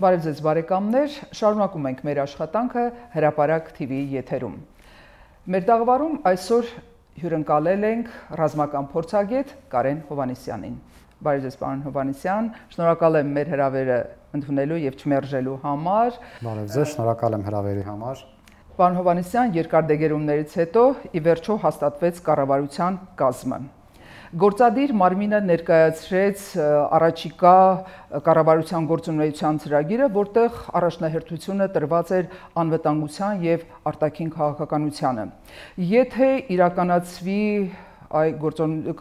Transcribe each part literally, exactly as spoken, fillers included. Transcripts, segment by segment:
Բարև ձեզ բարեկամներ, շարունակում ենք մեր աշխատանքը Հրապարակ T V-ի եթերում։ Մեր դաղվարում այսօր հյուրընկալել ենք ռազմական փորձագետ Կարեն Հովհաննիսյանին։ Բարև ձեզ պարոն Հովհաննիսյան, շնորհակալ եմ մեր հրավերը ընդունելու եւ չմերժելու համար։ Բարև ձեզ, շնորհակալ եմ հրավերի համար։ Պարոն Հովհաննիսյան, երկար դեգերումներից հետո ի վերջո հաստատվեց կառավարության կազմը։ Գործադիր մարմինը ներկայացրեց առաջիկա կառավարության գործունեության ծրագիրը, որտեղ առաջնահերթությունը տրված էր անվտանգության եւ արտաքին քաղաքականությանը։ Եթե իրականացվի այ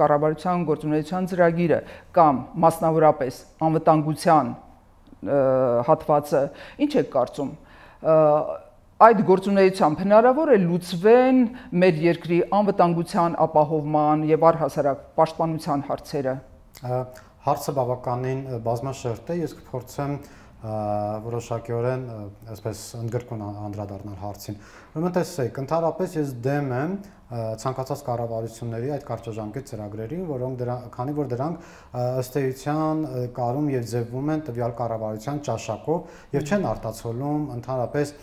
կառավարության գործունեության ծրագիրը կամ մասնավորապես անվտանգության հատվածը, ինչ եք կարծում, այդ գործունեությամբ հնարավոր է լուծվեն մեր երկրի անվտանգության ապահովման եւ առհասարակ պաշտպանության հարցերը։ Հարցը բավականին բազմաշերտ է, ես կփորձեմ որոշակիորեն այսպես ընդգրկուն անդրադառնալ հարցին։ Ուրեմն տեսեք, ընդհանրապես ես դեմ եմ ցանկացած կառավարությունների այդ կարճաժամկետ ծրագրերին, որոնք դրանք, քանի որ դրանք ըստ էության կարում եւ ձևվում են տվյալ կառավարության ճաշակով եւ չեն արտացոլում ընդհանրապես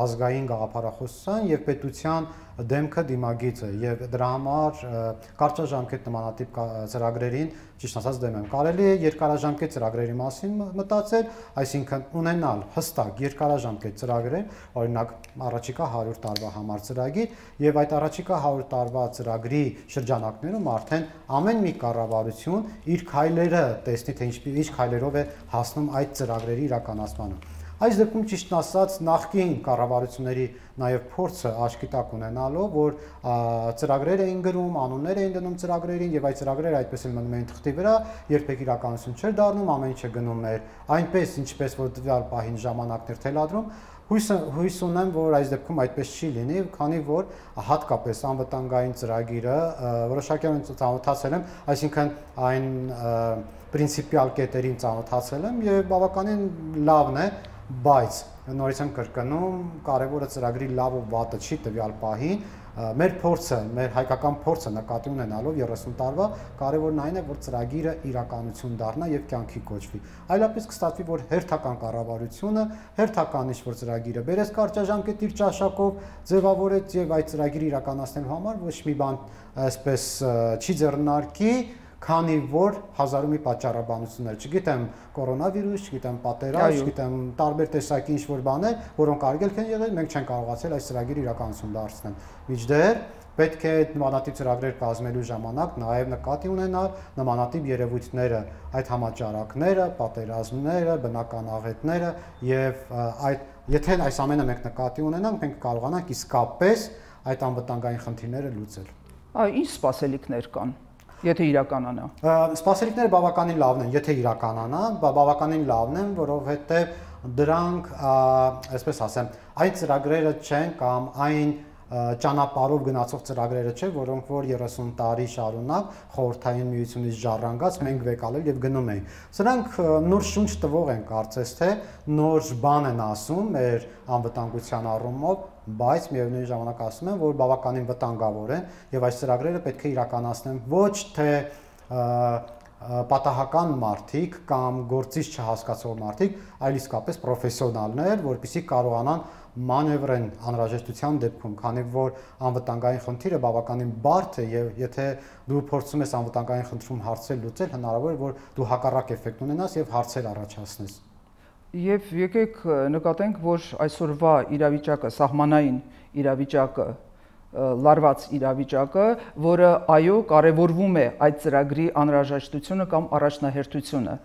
ազգային գաղափարախոսության եւ պետության դեմքը դիմագիծը եւ դրա համար կարճաժամկետ նմանատիպ ծրագրերին ճիշտ ասած դեմ եմ։ Կարելի է երկարաժամկետ ծրագրերի մասին մտածել, այսինքն ունենալ հստակ երկարաժամկետ ծրագրեր, օրինակ առաջիկա հարյուր տարվա համար ծրագիր եւ այդ առաջիկա հարյուր տարվա ծրագրի շրջանակներում արդեն ամեն մի կառավարություն իր քայլերը տեսնի, թե ինչ քայլերով է հասնում այդ ծրագրերի իրականացմանը։ Այս դեպքում ճիշտ ասած նախկին կառավարությունների նաև փորձը աչքի տակ ունենալով, որ ծրագրեր էին գրում, անուններ էին դնում ծրագրերին եւ այդ ծրագրերը այդպես էլ մնում էին թղթի վրա, երբեք իրականություն չէր դառնում, ամեն ինչը գնում էր այնպես, ինչպես որ տվյալ պահին ժամանակներ թելադրում։ Հույս ունեմ, որ այս դեպքում այդպես չի լինի, քանի որ հատկապես անվտանգային ծրագիրը որոշակիորեն ծանոթացել եմ, այսինքն այն պրինցիպիալ կետերին ծանոթացել եմ եւ բավականին լավն է, բայց նորից եմ կրկնում, կարևորը ծրագրի լավ ու վատը չի տվյալ պահին, մեր փորձը, մեր հայկական փորձը նկատի ունենալով երեսուն տարվա, կարևորն այն է, որ ծրագիրը իրականություն դառնա եւ կյանքի կոչվի։ Այլապես կստացվի, որ հերթական կառավարությունը հերթական ինչ-որ ծրագիրը բերեց կարճաժամկետ իր ճաշակով, ձևավորեց եւ այդ ծրագիրը իրականացնելու համար ոչ մի բան այսպես չի ձեռնարկի, քանի որ հազարու մի պատճառաբանություններ, չգիտեմ կորոնավիրուս, չգիտեմ պատերազմ, չգիտեմ տարբեր տեսակի ինչ-որ բաներ, որոնք արգելք են եղել, մենք չենք կարողացել այս ծրագիրը իրականություն դարձնել։ Մինչդեռ պետք է նմանատիպ ծրագրեր կազմելու ժամանակ նաև նկատի ունենալ նմանատիպ երևույթները, այդ համաճարակները, պատերազմները, բնական աղետները եւ այդ եթե այս ամենը մենք նկատի ունենանք, մենք կարողանանք իսկապես այդ անվտանգային խնդիրները լուծել։ Այ ինչ սպասելիքներ կան։ Եթե իրականանա։ Սպասելիքները բավականին լավն են, եթե իրականանա, բավականին լավն են, որովհետև դրանք, այսպես ասեմ, այն ծրագրերը չեն կամ այն ճանապարհով գնացող ծրագրերը չէ, որոնք որ երեսուն տարի շարունակ խորհրդային միությունից ժառանգած մենք վեկալել եւ գնում ենք։ Սրանք նոր շունչ տվող են, կարծես թե նոր բան են ասում մեր անվտանգության առումով, բայց միևնույն ժամանակ ասում են, որ բավականին վտանգավոր են եւ այս ծրագրերը պետք է իրականացնեն ոչ թե պատահական մարդիկ կամ գործիչ չհասկացող մարդիկ, այլ իսկապես պրոֆեսիոնալներ, որպեսզի կարողանան մանևրեն անհրաժեշտության դեպքում, քանի որ անվտանգային խնդիրը բավականին բարդ է եւ եթե դու փորձում ես անվտանգային խնդրում հարցեր լուծել, հնարավոր է որ դու հակառակ էֆեկտ ունենաս եւ հարցեր առաջացնես։ Եվ եկեք նկատենք, որ այսօրվա իրավիճակը, սահմանային իրավիճակը, լարված իրավիճակը, որը այո կարևորվում է այդ ծրագրի անհրաժեշտությունը կամ առաջնահերթությունը։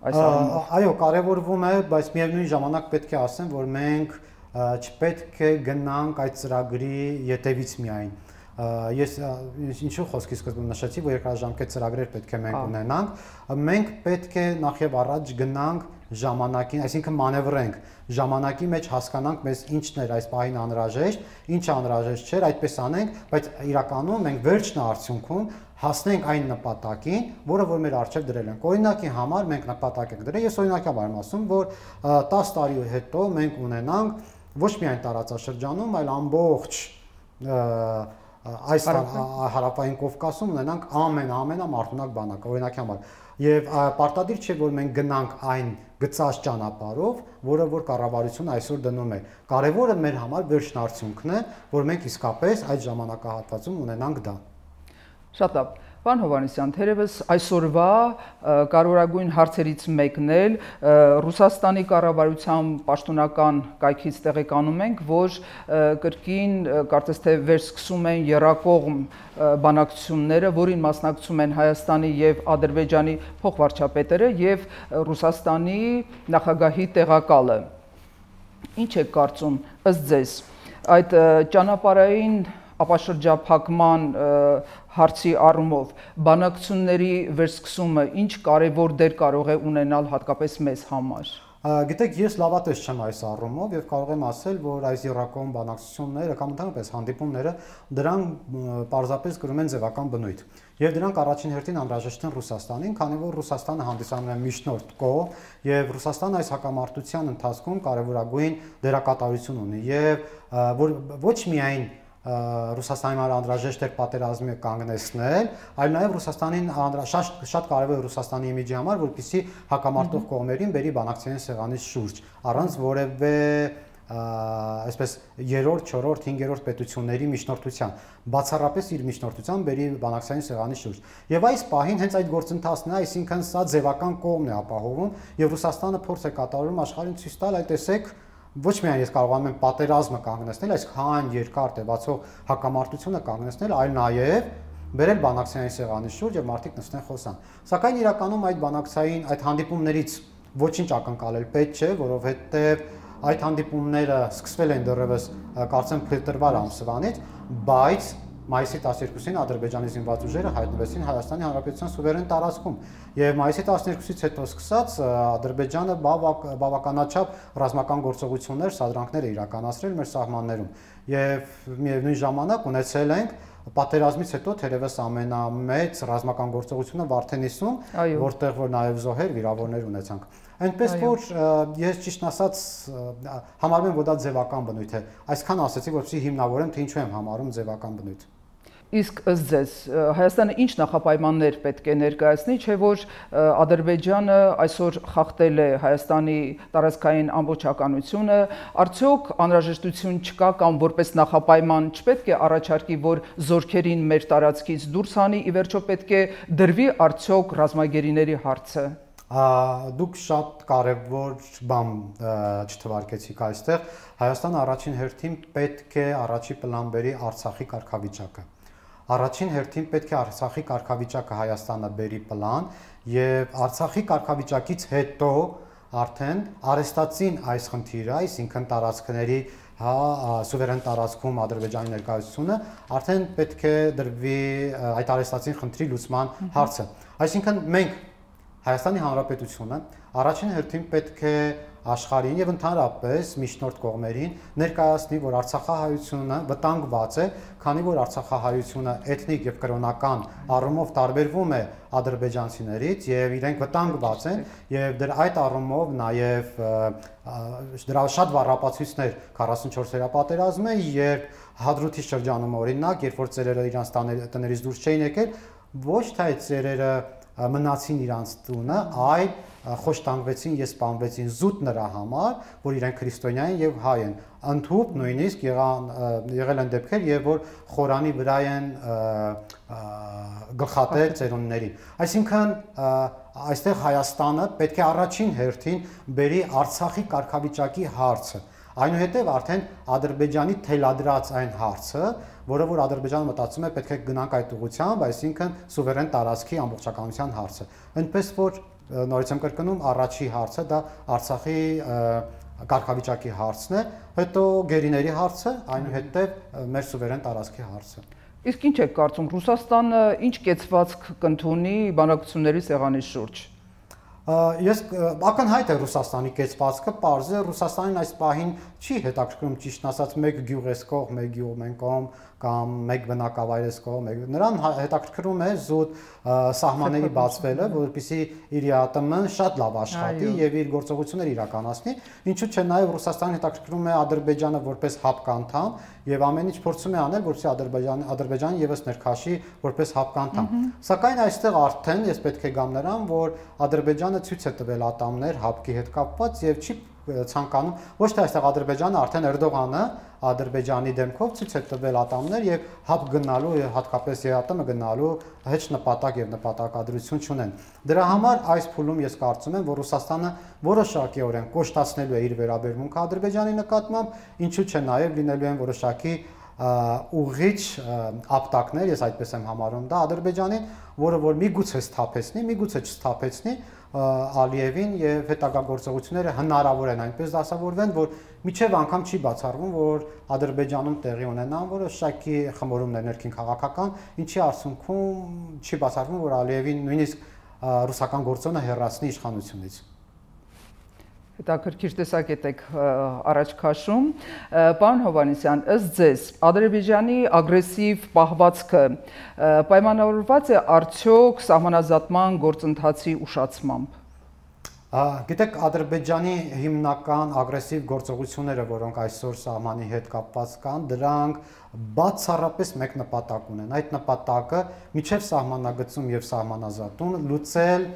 Այո, կարևորվում է, բայց միևնույն ժամանակ պետք է ասեմ, որ մենք չպետք է գնանք այդ ծրագրի ետևից միայն։ Ես ինչու խոսքի սկզբում նշեցի, որ երկարաժամկետ ծրագրեր պետք է մենք ունենանք, մենք պետք է նախ եւ առաջ գնանք ժամանակին, այսինքն մանևրենք, ժամանակի մեջ հասկանանք մեզ ինչն էր այս պահին անհրաժեշտ, ինչը անհրաժեշտ չէր, այդպես անենք, բայց իրականում մենք վերջնա արդյունքում հասնենք այն նպատակին, որը որ մեր առջև դրել ենք։ Օրինակի համար մենք նպատակ ենք դրել, ես օրինակաբար եմ ասում, որ տասը տարի հետո մենք ունենանք ոչ միայն տարածաշրջանում, այլ ամբողջ այս հարավային Կովկասում ունենանք ամեն-ամենամարդունակ բանակը, օրինակի համար։ Եվ պարտադիր չէ, որ մենք գնանք այն գծած ճանապարհով, որը որ կառավարությունը այսօր դնում է։ Կարևորը մեր համար վերջնարդյունքն է, որ մենք իսկապես այդ ժամանակահատվածում ունենանք դա։ Շատ լավ։ Պարոն Հովհաննիսյան, թերևս այսօրվա կարևորագույն հարցերից մեկն էլ Ռուսաստանի կառավարության պաշտոնական կայքից տեղեկանում ենք, որ կրկին կարծես թե վերսկսում են եռակողմ բանակցությունները, որին մասնակցում են Հայաստանի եւ Ադրբեջանի փոխվարչապետերը եւ Ռուսաստանի նախագահի տեղակալը։ Ինչ է կարծում ըստ ձեզ այդ ճանապարհային ապաշրջափակման հարցի առումով բանակցությունների վերսկսումը ինչ կարևոր դեր կարող է ունենալ հատկապես մեզ համար։ Գիտեք, ես լավատես չեմ այս առումով եւ կարող եմ ասել, որ այս եռակողմ բանակցությունները կամ ընդհանրապես հանդիպումները դրանք պարզապես կրում են ձևական բնույթ։ Եվ դրանք առաջին հերթին անհրաժեշտ են Ռուսաստանին, քանի որ Ռուսաստանը հանդիսանում է միջնորդ կողմ եւ Ռուսաստանը այս հակամարտության ընթացքում կարևորագույն դերակատարություն ունի եւ որ ոչ միայն Ռուսաստանի համար անհրաժեշտ էր պատերազմի կանգնեցնել, այլ նաև Ռուսաստանին շատ շատ կարևոր է Ռուսաստանի իմիջի համար, որպեսզի հակամարտող կողմերին բերի բանակցային սեղանի շուրջ, առանց որևէ այսպես երրորդ, չորրորդ, հինգերորդ պետությունների միջնորդության, բացառապես իր միջնորդությամբ բերի բանակցային սեղանի շուրջ։ Եվ այս պահին հենց այդ գործընթացն է, այսինքն սա ձևական կողմն է ապահովում, եւ Ռուսաստանը փորձ է կատարում աշխարհին ցույց տալ, այ տեսեք, ոչ միայն ես կարողանում եմ պատերազմը կանգնեցնել, այսքան երկար տևացող հակամարտությունը կանգնեցնել, այլ նաև բերել բանակցային սեղանի շուրջ եւ մարդիկ նստեն խոսան։ Սակայն իրականում այդ բանակցային այդ հանդիպումներից ոչինչ ակնկալել պետք չէ, որովհետեւ այդ հանդիպումները սկսվել են դեռևս կարծեմ փետրվար ամսվանից, բայց մայիսի տասներկուսին Ադրբեջանի զինված ուժերը հայտնվեցին Հայաստանի Հանրապետության սուվերեն տարածքում եւ մայիսի տասներկուսից հետո սկսած Ադրբեջանը բավականաչափ ռազմական գործողություններ, սադրանքներ է իրականացրել մեր սահմաններում եւ միևնույն ժամանակ ունեցել ենք պատերազմից հետո թերևս ամենամեծ ռազմական գործողությունը Վարդենիսում, որտեղ որ նաեւ զոհեր, վիրավորներ ունեցանք։ Այնպես որ ես ճիշտ ասած համարում եմ, որ դա ձևական բնույթ է։ Այսքան ասեցի, որպեսզի հիմնավորեմ, թե ինչու եմ համարում ձևական բնույթ։ Իսկ ըստ ձեզ Հայաստանը ինչ նախապայմաններ պետք է ներկայացնի, չէ՞ որ Ադրբեջանը այսօր խախտել է Հայաստանի տարածքային ամբողջականությունը, արդյոք անհրաժեշտություն չկա կամ որպես նախապայման չպետք է առաջարկի, որ զորքերին մեր տարածքից դուրս հանի, ի վերջո պետք է դրվի արդյոք ռազմագերիների հարցը։ Դուք շատ կարևոր բան չթվարկեցիք այստեղ։ Հայաստանը առաջին հերթին պետք է առաջի պլան բերի Արցախի կարգավիճակը։ Առաջին հերթին պետք է Արցախի կարգավիճակը Հայաստանը բերի պլան եւ Արցախի կարգավիճակից հետո արդեն արեստացին այս խնդիրը, այսինքն տարածքների հա սուվերեն տարածքում Ադրբեջանի ներկայությունը արդեն պետք է դրվի այդ արեստացին խնդրի լուծման հարցը։ Այսինքն մենք Հայաստանի Հանրապետությունը առաջին հերթին պետք է աշխարհին եւ ընդհանրապես միջնորդ կողմերին ներկայացնի, որ Արցախահայությունը վտանգված է, քանի որ Արցախահայությունը էթնիկ եւ կրոնական առումով տարբերվում է ադրբեջանցիներից եւ իրենք վտանգված են եւ դրա այդ առումով նաեւ դրա շատ վառապացույցներ քառասունչորսերա պատերազմը, երբ Հադրութի շրջանում օրինակ, երբ որ ծերերը իրանց տներից դուրս չէին եկել, ոչ թե այդ ծերերը մնացին իրանց տունը, այլ խոշտանգվեցին եւ սպանվեցին զուտ նրա համար, որ իրենք քրիստոնյա են եւ հայ են։ Ընդհուպ նույնիսկ եղան եղել են դեպքեր, երբ որ խորանի վրա են գլխատել ծերունների։ Այսինքն այստեղ Հայաստանը պետք է առաջին հերթին բերի Արցախի կարգավիճակի հարցը։ Այնուհետև արդեն Ադրբեջանի թելադրած այն հարցը, որը որ Ադրբեջանը մտածում է պետք է գնանք այդ ուղղությամբ, այսինքն սուվերեն տարածքի ամբողջականության հարցը։ Այնպես որ նորից եմ կրկնում, առաջի հարցը դա Արցախի կարգավիճակի հարցն է, հետո գերիների հարցը, այնուհետև մեր սուվերեն տարածքի հարցը։ Իսկ ինչ եք կարծում, Ռուսաստանը ինչ կեցվածք կընդունի բանակցությունների սեղանի շուրջ։ Ես ակնհայտ է Ռուսաստանի կեցվածքը, պարզ է Ռուսաստանին այս պահին չի հետաքրքրում ճիշտ ասած մեկ գյուղ էս կողմ, մեկ գյուղ մեն կողմ կամ մեկ բնակավայրես կողմ, նրան հետաքրքրում է զուտ սահմանների բացվելը, որպեսզի իր ԱՏՄ-ն շատ լավ աշխատի եւ իր գործողությունները իրականացնի, ինչու՞ չէ նաեւ Ռուսաստանին հետաքրքրում է Ադրբեջանը որպես հապկ անդամ եւ ամեն ինչ փորձում է անել, որպեսզի Ադրբեջանը Ադրբեջանը եւս ներքաշի որպես հապկ անդամ։ Սակայն այստեղ արդեն ես պետք է գամ նրան, որ Ադրբեջանը ցույց է տվել ատամներ հապկի հետ կապված եւ չի ցանկանում ոչ թե այստեղ Ադրբեջանը արդեն Էրդողանը Ադրբեջանի դեմքով ցույց է տվել ատամներ եւ հապ գնալու եւ հատկապես ԵԱՏՄ գնալու հեչ նպատակ եւ նպատակադրություն չունեն։ Դրա համար այս փուլում ես կարծում եմ, որ Ռուսաստանը որոշակիորեն կոշտացնելու է իր վերաբերմունքը Ադրբեջանի նկատմամբ, ինչու՞ չէ նաեւ լինելու են որոշակի ուղիչ ապտակներ, ես այդպես եմ համարում դա Ադրբեջանին, որը որ միգուցե սթափեցնի, միգուցե չսթափեցնի Ալիևին եւ հետագա գործողությունները հնարավոր են այնպես դասավորվեն, որ միջև անգամ չի բացառվում, որ Ադրբեջանում տեղի ունենան որոշակի խմորումներ ներքին քաղաքական, ինչի արդյունքում չի բացառվում, որ Ալիևին նույնիսկ ռուսական գործոնը հեռացնի իշխանությունից։ Հետաքրքիր տեսակետ եք առաջ քաշում, պարոն Հովհաննիսյան, ըստ ձեզ Ադրբեջանի ագրեսիվ պահվածքը պայմանավորված է արդյոք սահմանազատման գործընթացի ուշացմամբ։ Գիտեք, Ադրբեջանի հիմնական ագրեսիվ գործողությունները, որոնք այսօր սահմանի հետ կապված կան, դրանք բացառապես մեկ նպատակ ունեն։ Այդ նպատակը միջև սահմանագծում եւ սահմանազատում լուծել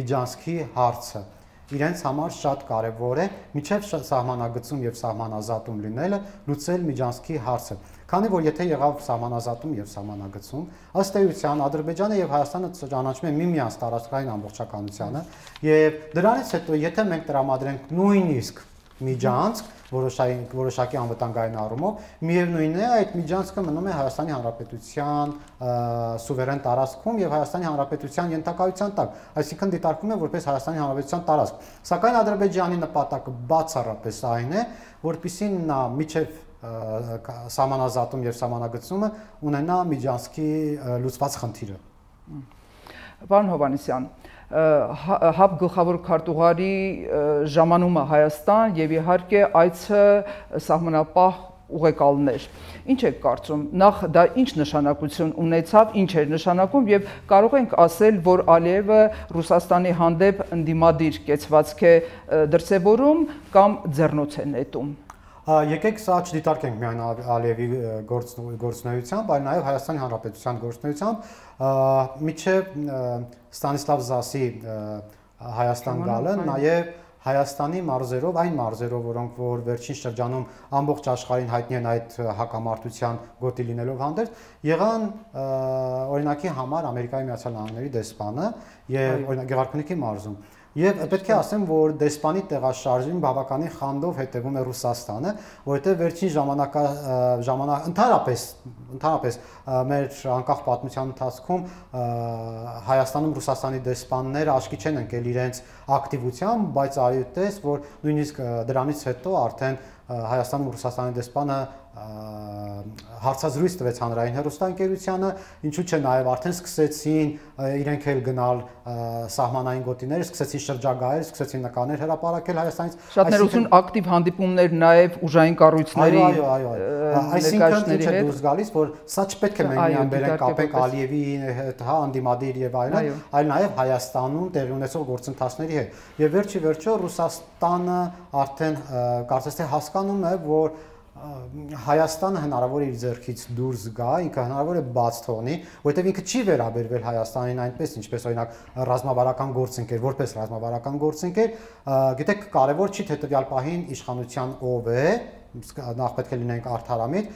Միջանցքի հարցը։ Իրենց համար շատ կարևոր է միջև սահմանագծում եւ սահմանազատում լինելը լուծել Միջանցքի հարցը։ Քանի որ եթե եղավ սահմանազատում եւ սահմանագծում, ըստ էության Ադրբեջանը եւ Հայաստանը ճանաչում են միմյանց տարածքային ամբողջականությանը եւ դրանից հետո եթե մենք տրամադրենք նույնիսկ Միջանցք որոշակի որոշակի անվտանգային առումով, միևնույնն է այդ Միջանցքը մնում է Հայաստանի Հանրապետության սուվերեն տարածքում եւ Հայաստանի Հանրապետության ենթակայության տակ, այսինքն դիտարկվում է որպես Հայաստանի Հանրապետության տարածք։ Սակայն Ադրբեջանի նպատակը բացառապես այն է, որպեսզի նա միջև սահմանազատում եւ սահմանագծումը ունենա Միջանցքի լուծված խնդիրը։ Պարոն Հովհաննիսյան, ՀԱՊ գլխավոր քարտուղարի ժամանումը Հայաստան եւ իհարկե այցը սահմանապահ ուղեկալներ։ Ինչ եք կարծում, նախ դա ինչ նշանակություն ունեցավ, ինչ էր նշանակում եւ կարող ենք ասել, որ Ալիևը Ռուսաստանի հանդեպ ընդդիմադիր կեցվածք է դրսևորում կամ ձեռնոց է նետում։ Եկեք սա չդիտարկենք միայն Ալիևի գործունեությամբ, այլ նաև Հայաստանի Հանրապետության գործունեությամբ, միջև Ստանիսլավ Զասի Հայաստան գալը, նաև Հայաստանի մարզերով, այն մարզերով, որոնք որ վերջին շրջանում ամբողջ աշխարհին հայտնի են այդ հակամարտության գոտի լինելով հանդերձ, եղան օրինակի համար Ամերիկայի Միացյալ Նահանգների դեսպանը եւ օրինակ Գեղարքունիքի մարզում։ Եվ պետք է ասեմ, որ դեսպանի տեղաշարժին բավականին խանդով հետևում է Ռուսաստանը, որովհետև վերջին ժամանակա ժամանակ ընդհանրապես ընդհանրապես մեր անկախ պատմության ընթացքում Հայաստանում Ռուսաստանի դեսպանները աչքի չեն ընկել իրենց ակտիվությամբ, բայց այդտես, որ նույնիսկ դրանից հետո արդեն Հայաստանում Ռուսաստանի դեսպանը հարցազրույց տվեց հանրային հեռուստաընկերությանը, ինչու՞ չէ նաև արդեն սկսեցին իրենք էլ գնալ սահմանային գոտիներ, սկսեցին շրջագայել, սկսեցին նկարներ հրապարակել Հայաստանից։ Շատ ներողություն, ակտիվ հանդիպումներ նաև ուժային կառույցների ներկայացուցիչների հետ։ Այսինքն դուրս գալիս, որ սա չպետք է մենք միայն բերենք կապենք Ալիևի հետ, հա, անդիմադիր եւ այլն, այլ նաև Հայաստանում տեղի ունեցող գործընթացների հետ։ Եվ վերջի վերջո Ռուսաստանը արդեն կարծես թե հասկանում է, որ Հայաստանը հնարավոր է իր ձեռքից դուրս գա, ինքը հնարավոր է բաց թողնի, որովհետև ինքը չի վերաբերվել Հայաստանին այնպես, ինչպես օրինակ ռազմավարական գործընկեր, որպես ռազմավարական գործընկեր, գիտեք, կարևոր չի թե տվյալ պահին իշխանության ով է, նախ պետք է լինենք արդարամիտ,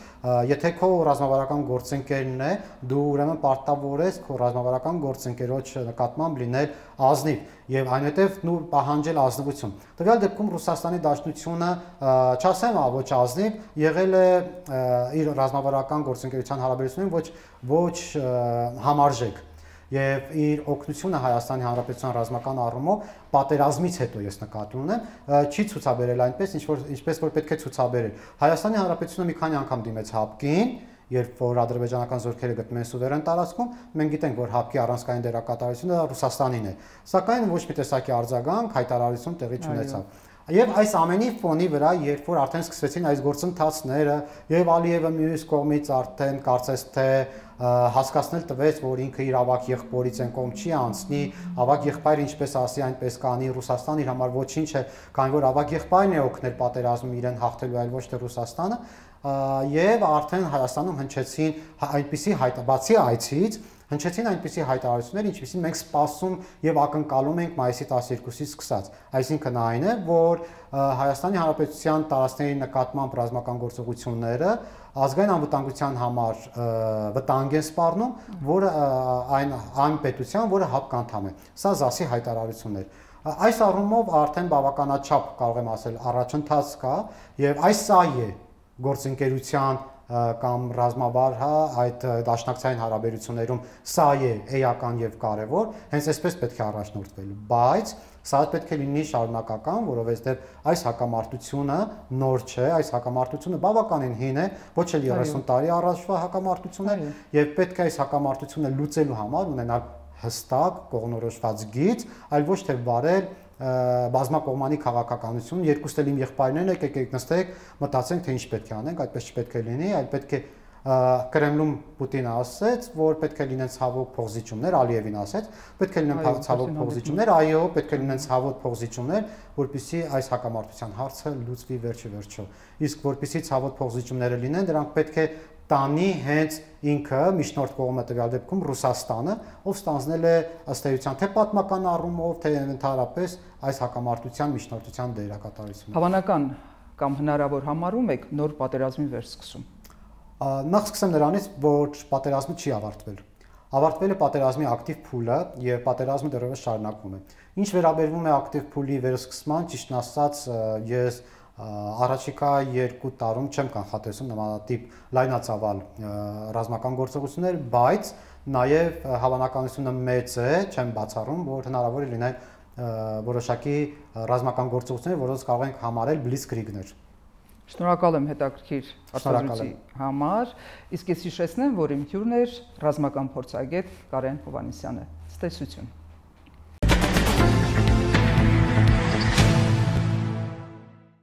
եթե քո ռազմավարական գործընկերն է, դու ուրեմն պարտավոր ես քո ռազմավարական գործընկերոջ նկատմամբ լինել ազնիվ եւ այնուհետեւ նու պահանջել ազնվություն։ Տվյալ դեպքում Ռուսաստանի Դաշնությունը, չասեմ ոչ ազնիվ, եղել է իր ռազմավարական գործընկերության հարաբերություններին ոչ ոչ համարժեք։ Եվ իր օգնությունը Հայաստանի Հանրապետության ռազմական առումով պատերազմից հետո ես նկատի ունեմ, չի ցուցաբերել այնպես, ինչպես որ պետք է ցուցաբերել։ Հայաստանի Հանրապետությունը մի քանի անգամ դիմեց ՀԱՊԿ-ին, երբ որ ադրբեջանական զորքերը գտնում են սուվերեն տարածքում, մենք գիտենք, որ ՀԱՊԿ-ի առանցքային դերակատարությունը Ռուսաստանին է։ Սակայն ոչ մի տեսակի արձագանք, հայտարարություն տեղի չունեցավ։ Եվ այս ամենի ֆոնի վրա, երբ որ արդեն սկսվեցին այս գործընթացները, եւ Ալիևը մյուս կողմից արդեն կարծես թե հասկացնել տվեց, որ ինքը իր ավակ եղբորից այն կողմ չի անցնի, ավակ եղբայրը ինչպես ասի, այնպես կանի, Ռուսաստանը իր համար ոչինչ է, քանի որ ավակ եղբայրն է օգնել պատերազմում իրեն հաղթելու, այլ ոչ թե Ռուսաստանը, եւ արդեն Հայաստանում հնչեցին այնպիսի հայտ, բացի այցից հնչեցին այնպիսի հայտարարություններ, ինչպիսին մենք սպասում եւ ակնկալում ենք մայիսի տասներկուսից սկսած։ Այսինքն այն է, որ Հայաստանի Հանրապետության տարածքների նկատմամբ ռազմական գործողությունները ազգային անվտանգության համար վտանգ են սպառնում, որը այն այն պետության, որը ՀԱՊԿ անդամ է։ Սա ԶԱՍ-ի հայտարարություններ։ Այս առումով արդեն բավականաչափ կարող եմ ասել առաջընթաց կա եւ այս սա է գործընկերության կամ ռազմավար, հա, այդ դաշնակցային հարաբերություններում սա է էական եւ կարեւոր, հենց այսպես պետք է առաջնորդվել, բայց սա պետք է լինի շարունակական, որովհետեւ այս հակամարտությունը նոր չէ, այս հակամարտությունը բավականին հին է, ոչ էլ երեսուն տարի առաջվա հակամարտություն է եւ պետք է այս հակամարտությունը լուծելու համար ունենալ հստակ կողմնորոշված գիծ, այլ ոչ թե վարել բազմակողմանի քաղաքականություն, երկուստ էլ իմ եղբայրներն եք, եկեք նստեք, մտածենք, թե ինչ պետք է անենք, այդպես չպետք է լինի, այլ պետք է Կրեմլում Պուտինը ասաց, որ պետք է լինեն ցավոք փոխզիջումներ, Ալիևին ասաց, պետք է լինեն ցավոք փոխզիջումներ, այո, պետք է լինեն ցավոք փոխզիջումներ, որպեսզի այս հակամարտության հարցը լուծվի վերջի վերջո։ Իսկ որպեսզի ցավոք փոխզիջումները լինեն, դրանք պետք է տանի հենց ինքը միջնորդ կողմը տվյալ դեպքում Ռուսաստանը, ով ստանձնել է ըստ էության թե պատմական առումով, թե ընդհանրապես այս հակամարտության միջնորդության դերակատարությունը։ Հավանական կամ հնարավոր համարում եք նոր պատերազմի վերսկսում։ Նախ սկսեմ նրանից, որ պատերազմը չի ավարտվել։ Ավարտվել է պատերազմի ակտիվ փուլը եւ պատերազմը դեռևս շարունակվում է։ Ինչ վերաբերվում է ակտիվ փուլի վերսկսման, ճիշտն ասած, ես առաջիկա երկու տարում չեմ կանխատեսում նմանատիպ լայնածավալ ռազմական գործողություններ, բայց նաև հավանականությունը մեծ է, չեմ բացառում, որ հնարավոր է լինել որոշակի ռազմական գործողություններ, որոնց կարող ենք համարել բլիցկրիգներ։ Շնորհակալ եմ հետաքրքիր արտադրության համար, իսկ ես հիշեցնեմ, որ իմ հյուրն էր ռազմական փորձագետ Կարեն Հովհաննիսյանը։ Ցտեսություն։